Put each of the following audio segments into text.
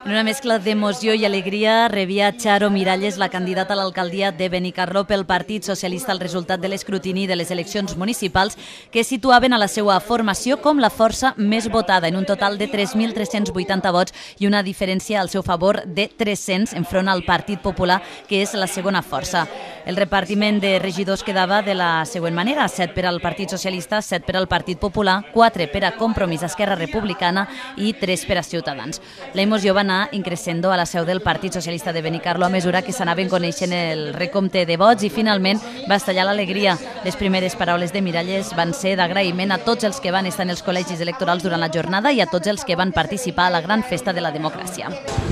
En una mescla d'emoció i alegria rebia Charo Miralles, la candidata a l'alcaldia de Benicarló pel Partit Socialista, el resultat de l'escrutini de les eleccions municipals que situaven a la seva formació com la força més votada, en un total de 3.380 vots i una diferència al seu favor de 300 enfront al Partit Popular, que és la segona força. El repartiment de regidors quedava de la següent manera: 7 per al Partit Socialista, 7 per al Partit Popular, 4 per a Compromís Esquerra Republicana i 3 per a Ciutadans. La emoció va anar increscendo a la seu del Partit Socialista de Benicarló a mesura que s'anaven coneixent el recompte de vots i finalment va estallar l'alegria. Les primeres paraules de Miralles van ser d'agraïment a tots els que van estar en els col·legis electorals durant la jornada i a tots els que van participar a la gran festa de la democràcia.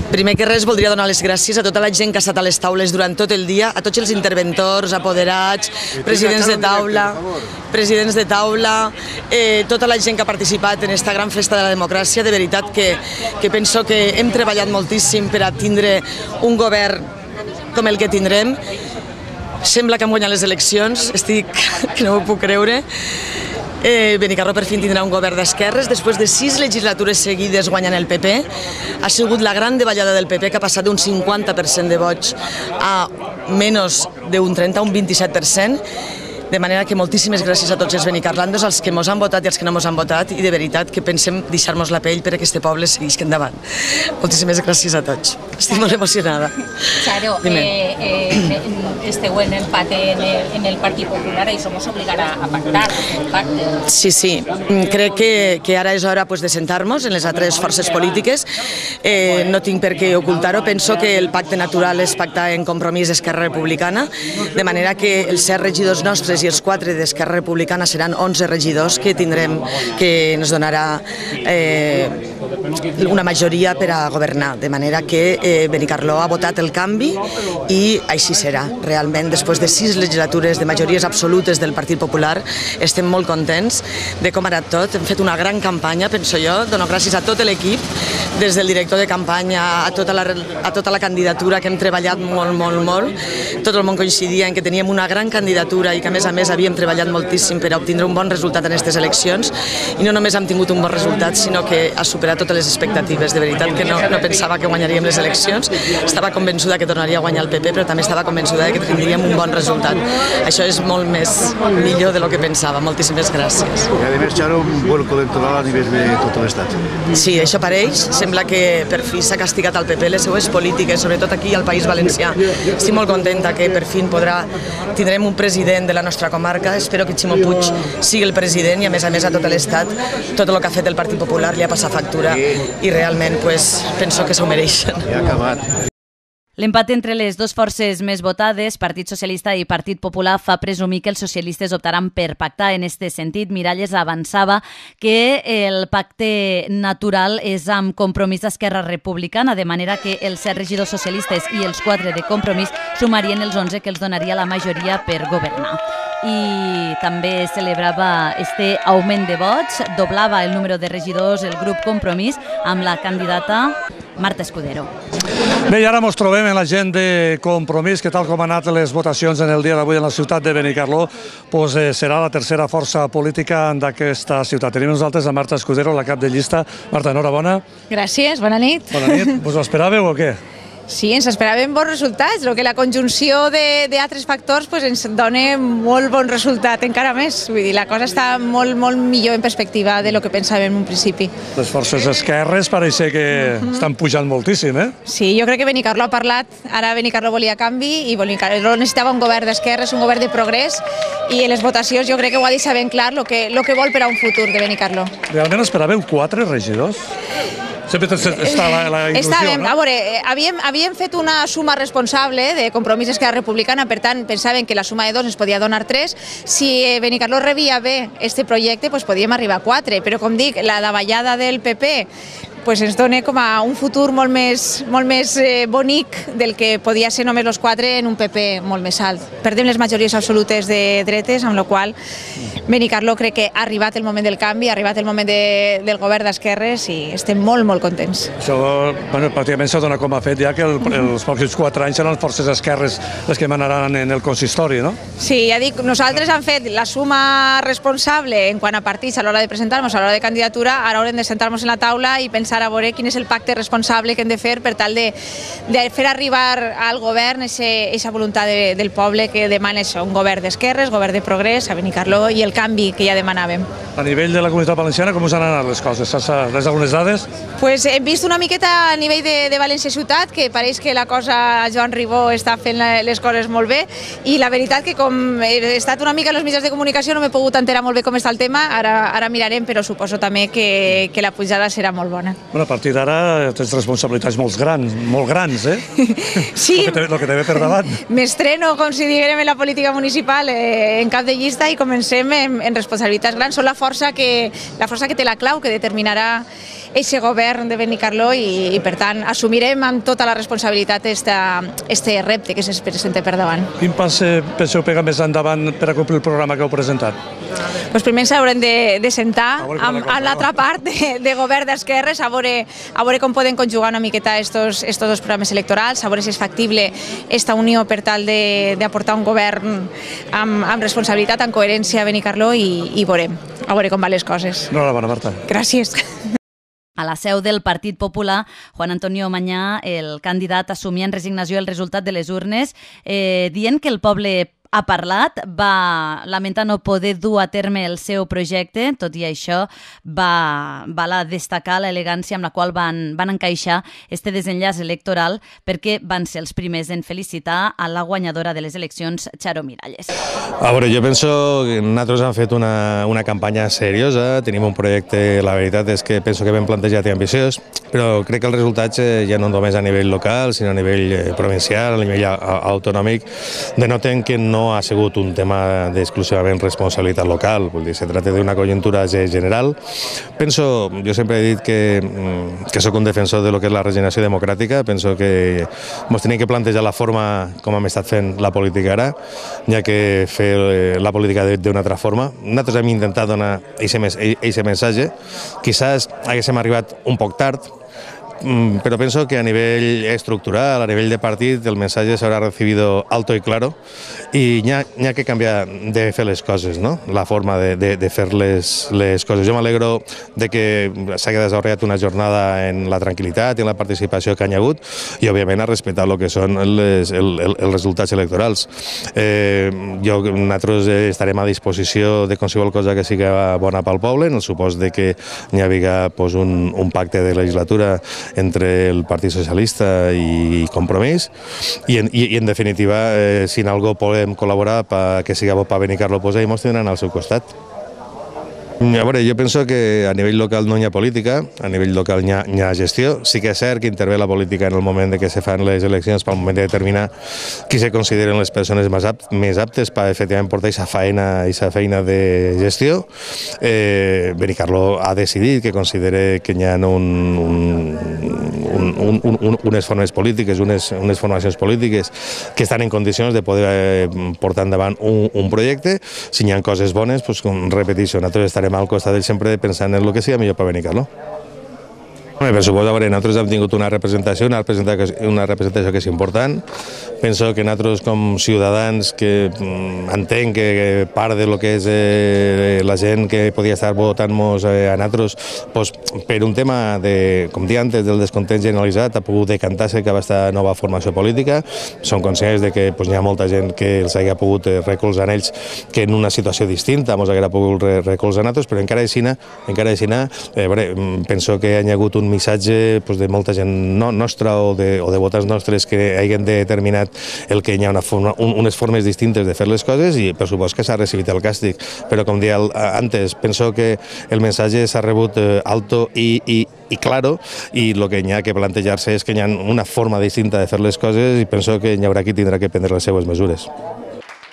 Primer que res voldria donar les gràcies a tota la gent que ha estat a les taules durant tot el dia, a tots els interventors, apoderats, presidents de taula, tota la gent que ha participat en aquesta gran festa de la democràcia. De veritat que penso que hem treballat moltíssim per a tindre un govern com el que tindrem. Sembla que hem guanyat les eleccions, que no ho puc creure. Benicarló per fi tindrà un govern d'esquerres després de 6 legislatures seguides guanyant el PP. Ha sigut la gran davallada del PP, que ha passat d'un 50% de vots a menys d'un 30, un 27%. De manera que moltíssimes gràcies a tots els benicarlandos, als que mos han votat i als que no mos han votat, i de veritat que pensem deixar-nos la pell per a que este poble segueixi endavant. Moltíssimes gràcies a tots. Estic molt emocionada. Charo, esteu en empat en el Partit Popular i això mos obligarà a pactar el pacte. Sí. Crec que ara és hora de sentar-nos en les altres forces polítiques. No tinc per què ocultar-ho. Penso que el pacte natural és pactar en Compromís Esquerra Republicana, de manera que els 7 regidors nostres i els 4 d'Esquerra Republicana seran 11 regidors que tindrem, que ens donarà una majoria per a governar, de manera que Benicarló ha votat el canvi i així serà. Realment, després de 6 legislatures de majories absolutes del Partit Popular, estem molt contents de com ha anat tot. Hem fet una gran campanya, penso jo. Dono gràcies a tot l'equip, des del director de campanya a tota la candidatura, que hem treballat molt. Tot el món coincidia en que teníem una gran candidatura i que a més havíem treballat moltíssim per a obtindre un bon resultat en aquestes eleccions, i no només hem tingut un bon resultat, sinó que ha superat totes les expectatives. De veritat que no pensava que guanyaríem les eleccions. Estava convençuda que tornaria a guanyar el PP, però també estava convençuda que tindríem un bon resultat. Això és molt millor de lo que pensava. Moltíssimes gràcies. I a més, Charo, un vuelco electoral a nivell de tot l'estat. Sí, això pareix. Sembla que per fi s'ha castigat al PP les seues polítiques, sobretot aquí al País Valencià. Estic molt contenta que per fi tindrem un president de la nostra comarca. Espero que Ximo Puig sigui el president i a més a tot l'estat tot el que ha fet el Partit Popular li ha passat factura i realment penso que s'ho mereixen. Ja ha acabat. L'empat entre les dues forces més votades, Partit Socialista i Partit Popular, fa presumir que els socialistes optaran per pactar. En aquest sentit, Miralles avançava que el pacte natural és amb Compromís Esquerra Republicana, de manera que els 7 regidors socialistes i els 4 de Compromís sumarien els 11 que els donaria la majoria per governar. I també celebrava este augment de vots, doblava el número de regidors el grup Compromís amb la candidata Marta Escudero. Bé, i ara ens trobem en la gent de Compromís, que tal com han anat les votacions en el dia d'avui en la ciutat de Benicarló, serà la tercera força política d'aquesta ciutat. Tenim nosaltres a Marta Escudero, la cap de llista. Marta, enhorabona. Gràcies, bona nit. Bona nit. Us ho esperàveu o què? Sí, ens esperàvem bons resultats, el que la conjunció d'altres factors ens dona molt bon resultat, encara més. Vull dir, la cosa està molt millor en perspectiva de lo que pensàvem en un principi. Les forces esquerres pareix que estan pujant moltíssim, eh? Sí, jo crec que Benicarló ha parlat, ara Benicarló volia canvi i Benicarló necessitava un govern d'esquerres, un govern de progrés, i en les votacions jo crec que ho ha deixat ben clar el que vol per a un futur de Benicarló. Realment esperàveu 4 regidors? Sempre està la il·lusió, no? A veure, havíem fet una suma responsable de Compromís Esquerra Republicana, per tant, pensaven que la suma de 2 ens podia donar 3. Si Benicarló rebia bé este projecte, podíem arribar a 4, però com dic, la davallada del PP ens dona com a un futur molt més bonic del que podia ser només els 4 en un PP molt més alt. Perdem les majories absolutes de dretes, amb la qual Benicarló crec que ha arribat el moment del canvi, ha arribat el moment del govern d'esquerres i estem molt contents. Això, pràcticament s'ha donat com a fet ja que els pròxims 4 anys seran les forces esquerres les que manaran en el consistori, no? Sí, ja dic, nosaltres hem fet la suma responsable en quant a partits a l'hora de presentar-nos, a l'hora de candidatura, ara haurem de sentar-nos en la taula i pensar començar a veure quin és el pacte responsable que hem de fer per tal de fer arribar al govern aquesta voluntat del poble que demana això, un govern d'esquerres, govern de progrés a Benicarló i el canvi que ja demanàvem. A nivell de la Comunitat Valenciana, com us han anat les coses? Has algunes dades? Pues hem vist una miqueta a nivell de València Ciutat, que pareix que la cosa, Joan Ribó està fent les coses molt bé, i la veritat que com he estat una mica en els mitjans de comunicació no m'he pogut enterar molt bé com està el tema, ara mirarem, però suposo també que la pujada serà molt bona. Bueno, a partir d'ara tens responsabilitats molt grans, eh? Sí. El que te ve per davant. M'estreno, com si diguem, en la política municipal en cap de llista i comencem en responsabilitats grans. Són la força que té la clau, que determinarà aquest govern de Benicarló i per tant, assumirem amb tota la responsabilitat este repte que se'ns presenta per davant. Quin pas penseu pegar més endavant per a complir el programa que heu presentat? Doncs primer ens haurem de sentar amb l'altra part de govern d'esquerres, a veure com poden conjugar una miqueta estos dos programes electorals, a veure si és factible esta unió per tal d'aportar un govern amb responsabilitat, amb coherència a Benicarló i veurem com van les coses. Enhorabona, Marta. Gràcies. A la seu del Partit Popular, Juan Antonio Mañá, el candidat, assumia en resignació el resultat de les urnes, dient que el poble ha parlat, va lamentar no poder dur a terme el seu projecte, tot i això va destacar l'elegància amb la qual van encaixar este desenllaç electoral perquè van ser els primers en felicitar a la guanyadora de les eleccions, Charo Miralles. A veure, jo penso que nosaltres hem fet una campanya seriosa, tenim un projecte, la veritat és que penso que ben plantejat i ambiciós, però crec que els resultats ja no només a nivell local, sinó a nivell provincial, a nivell autonòmic, denoten que no ha sigut un tema d'exclusivament responsabilitat local, vull dir, se tracta d'una conjuntura general. Penso, jo sempre he dit que sóc un defensor de lo que és la regeneració democràtica, penso que ens tenim que plantejar la forma com hem estat fent la política ara, ja que fer la política d'una altra forma. Nosaltres hem intentat donar aquest missatge, quizás haguéssim arribat un poc tard, pero pienso que a nivel estructural, a nivel de partit, el mensaje se habrá recibido alto y claro y n'hi ha que canviar de fer les coses, no? La forma de fer les coses. Jo m'alegro de que s'hagi desenvolupat una jornada en la tranquil·litat i en la participació que hi ha hagut i, òbviament, a respectar el que són els resultats electorals. Nosaltres estarem a disposició de qualsevol cosa que sigui bona pel poble, en el supòs que hi hagi un pacte de legislatura entre el Partit Socialista i Compromís i en definitiva, si en algo podem col·laborar perquè sigui bo per Benicarló, i ens tindran al seu costat. A veure, jo penso que a nivell local no hi ha política, a nivell local hi ha gestió. Sí que és cert que intervé la política en el moment de que se fan les eleccions pel moment de determinar qui se consideren les persones més aptes per efectivament portar aquesta feina de gestió. Benicarló ha decidit que considera que hi ha unes formes polítiques, unes formacions polítiques que estan en condicions de poder portar endavant un projecte. Si hi ha coses bones, com repeteixo, nosaltres estarem al costat d'ells sempre pensant en el que sigui millor per Benicarló. Per suposo, nosaltres hem tingut una representació que és important. Penso que nosaltres, com ciutadans, que entenc que part de lo que és la gent que podia estar votant-nos a nosaltres, per un tema, com dia antes, del descontent generalitzat, ha pogut decantar-se cap a aquesta nova formació política. Som conscients que hi ha molta gent que els hagi pogut recolzar en ells que en una situació distinta ens hauria pogut recolzar a nosaltres, però encara així, penso que hi ha hagut un missatge de molta gent nostra o de votants nostres que hagin determinat el que hi ha unes formes distintes de fer les coses i per supost que s'ha recibit el càstig. Però com deia antes, penso que el missatge s'ha rebut alto i claro i el que hi ha que plantejar-se és que hi ha una forma distinta de fer les coses i penso que hi haurà qui tindrà que prendre les seues mesures.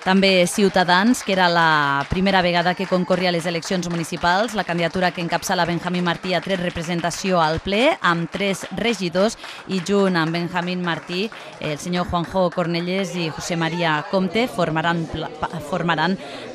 També Ciutadans, que era la primera vegada que concorria a les eleccions municipals. La candidatura que encapçala Benjamín Martí ha tret representació al ple amb 3 regidors i junt amb Benjamín Martí, el senyor Juanjo Cornellés i José María Comte formaran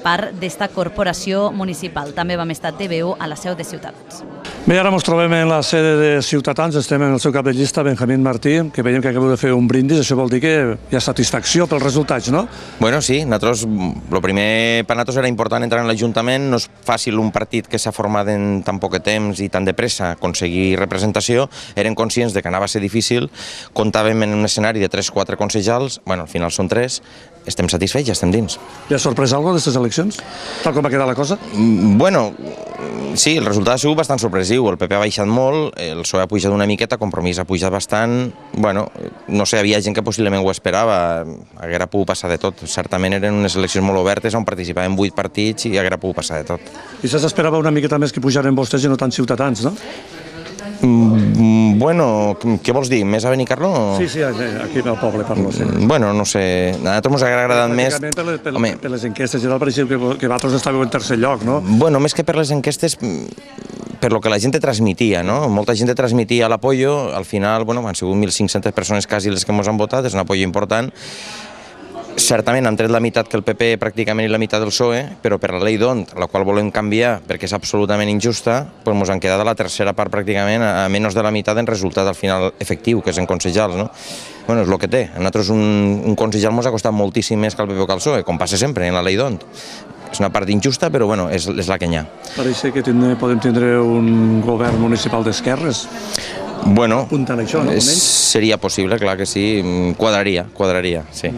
part d'esta corporació municipal. També vam estar TVU a la seu de Ciutadans. Bé, ara ens trobem en la sede de Ciutadans, estem en el seu cap de llista, Benjamín Martí, que veiem que acabeu de fer un brindis, això vol dir que hi ha satisfacció pels resultats, no? Bueno, sí, nosaltres, el primer per nosaltres era important entrar en l'Ajuntament, no és fàcil un partit que s'ha format en tan poc temps i tan de pressa aconseguir representació, eren conscients de que anava a ser difícil, comptàvem en un escenari de 3-4 consellals, bueno, al final són 3, estem satisfets, ja estem dins. Hi ha sorprès alguna cosa d'aquestes eleccions? Tal com va quedar la cosa? Bueno, sí, el resultat ha sigut bastant sorpresiu, el PP ha baixat molt, el PSOE ha pujat una miqueta, Compromís ha pujat bastant, bueno, no sé, havia gent que possiblement ho esperava, haguera pogut passar de tot, certament eren unes eleccions molt obertes on participaven 8 partits i haguera pogut passar de tot. I s'esperava una miqueta més que pujaren vostès i no tant Ciutadans, no? Bueno, què vols dir? Més a Benicarló? Sí, aquí al poble parlo. Sí. Bueno, no sé, a nosaltres ens ha agradat més... Per les enquestes general pareixia que vosaltres estàveu en tercer lloc, no? Bueno, més que per les enquestes, per lo que la gent transmitia, no? Molta gent transmitia l'apoyo, al final, bueno, han sigut 1.500 persones quasi les que ens han votat, és un apoyo important. Certament han tret la meitat que el PP pràcticament i la meitat del PSOE, però per la llei d'ONT, la qual volem canviar perquè és absolutament injusta, doncs ens han quedat a la tercera part pràcticament, a menys de la meitat en resultat al final efectiu, que és en consellals, no? Bueno, és el que té. A nosaltres un consellal ens ha costat moltíssim més que el PP o que el PSOE, com passa sempre en la llei d'ONT. És una part injusta, però bueno, és la que n'hi ha. Pareix que podem tindre un govern municipal d'esquerres. Bueno, seria possible, clar que sí, quadraria, sí.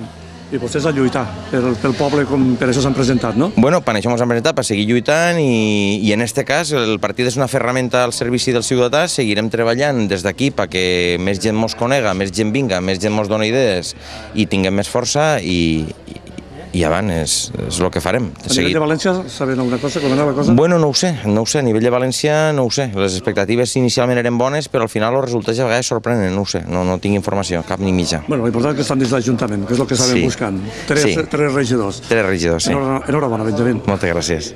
I vostès a lluitar pel poble, com per això s'han presentat, no? Bueno, per això ens han presentat, per seguir lluitant i en este cas el partit és una ferramenta al servici del ciutadà, seguirem treballant des d'aquí perquè més gent mos conega, més gent vinga, més gent mos dona idees i tinguem més força i avant és el que farem. A nivell de València, sabem alguna cosa, com era la cosa? Bueno, no ho sé, a nivell de València no ho sé. Les expectatives inicialment eren bones, però al final els resultats a vegades sorprenen, no ho sé, no tinc informació, cap ni mitja. Bueno, l'important és que estan dins l'Ajuntament, que és el que estàvem buscant. Tres regidors. Sí. Enhorabona, Benjamín. Moltes gràcies.